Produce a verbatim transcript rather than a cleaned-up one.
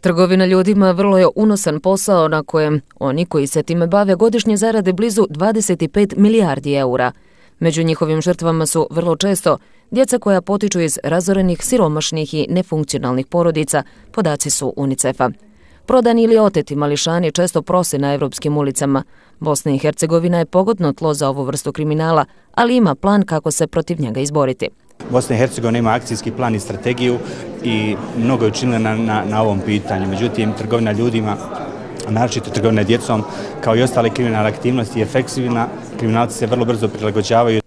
Trgovina ljudima vrlo je unosan posao na kojem oni koji se time bave godišnje zarade blizu dvadeset pet milijardi eura. Među njihovim žrtvama su vrlo često djeca koja potiču iz razorenih, siromašnih i nefunkcionalnih porodica, podaci su UNICEF-a. Prodani ili oteti mališani često prose na evropskim ulicama. Bosna i Hercegovina je pogodno tlo za ovu vrstu kriminala, ali ima plan kako se protiv njega izboriti. Bosna i Hercegovina ima akcijski plan i strategiju i mnogo je učinila na, na, na ovom pitanju. Međutim, trgovina ljudima, naročito trgovina djecom, kao i ostale kriminalne aktivnosti je fleksibilna. Kriminalci se vrlo brzo prilagođavaju.